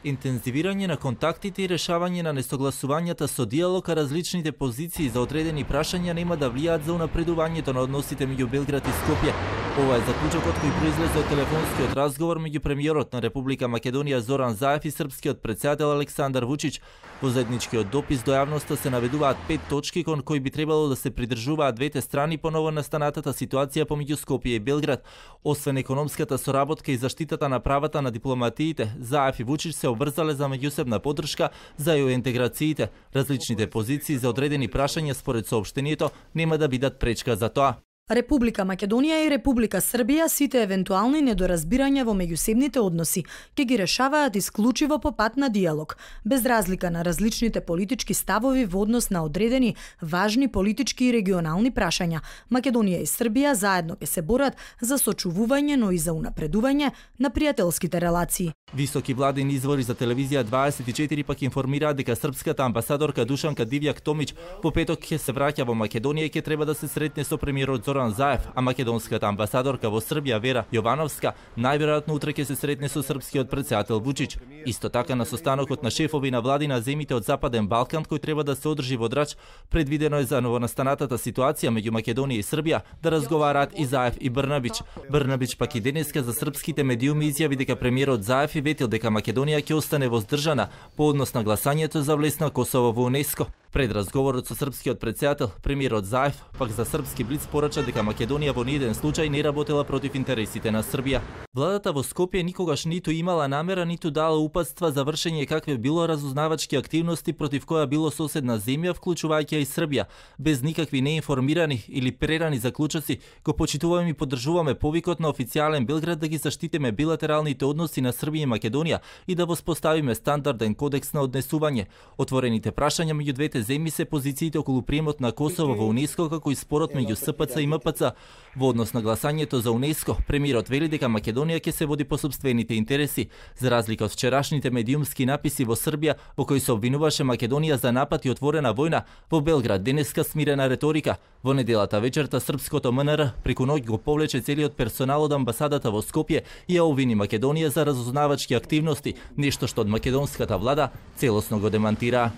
Интензивирање на контактите и решавање на несогласувањата со диалог, а различните позиции за одредени прашања нема да влијаат за унапредувањето на односите меѓу Белград и Скопје. Ова е заклучокот кој произлезе од телефонскиот разговор меѓу премиерот на Република Македонија Зоран Заев и српскиот претседател Александар Вучич. Во заедничкиот допис до јавноста се наведуваат 5 точки кон кои би требало да се придржуваат двете страни по новонастанатата ситуација помеѓу Скопје и Белград. Освен економската соработка и заштитата на правата на дипломатиите, Заев и Вучич се обврзале за меѓусебна поддршка за интеграциите. Различните позиции за одредени прашања според соопштението нема да бидат пречка за тоа. Република Македонија и Република Србија сите евентуални недоразбирања во меѓусебните односи ќе ги решаваат исклучиво по пат на диалог, без разлика на различните политички ставови во однос на одредени важни политички и регионални прашања. Македонија и Србија заедно ќе се борат за сочувување, но и за унапредување на пријателските релации. Високи владини извори за телевизија 24 пак информираат дека српската амбасадорка Душанка Дивјак Томич во петок ќе се враќа во Македонија и ќе треба да се сретне со премиерот Зоран Заев, а македонската амбасадорка во Србија Вера Јовановска најверојатно утре ќе се сретне со српскиот претседател Вучич. Исто така на состанокот на шефови на влади на земите од Западен Балкан кој треба да се одржи во Драч, предвидено е за новонастанатата ситуација меѓу Македонија и Србија да разговараат и Заев и Брнабич. Брнабич пак и денеска за српските медиуми изјави дека премиерот Заев ветил дека Македонија ќе остане воздржана по однос на гласањето за влез на Косово во УНЕСКО. Пред разговорот со српскиот претседател, премиерот Заев пак за српски блиц порача дека Македонија во ниеден случај не работела против интересите на Србија. Владата во Скопје никогаш ниту имала намера, ниту дала упатства за вршење какве било разузнавачки активности против која било соседна земја, вклучувајќи и Србија. Без никакви неинформирани или прерани заклучоци, го почитуваме и поддржуваме повикот на официјален Белград да ги заштитиме билатералните односи на Србија и Македонија и да воспоставиме стандарден кодекс на однесување. Отворените прашања меѓу двете земји се позициите околу приемот на Косово во УНЕСКО, како и спорот меѓу СПЦ и МПЦ. Во однос на гласањето за УНЕСКО, премиерот вели дека Македонија ќе се води по сопствените интереси, за разлика од вчерашните медиумски написи во Србија во кои се обвинуваше Македонија за напад и отворена војна. Во Белград денеска смирена реторика. Во неделата вечерта српското МНР преку ноќ го повлече целиот персонал од амбасадата во Скопје и ја обвини Македонија за разузнавачки активности, нешто што од македонската влада целосно го демантира.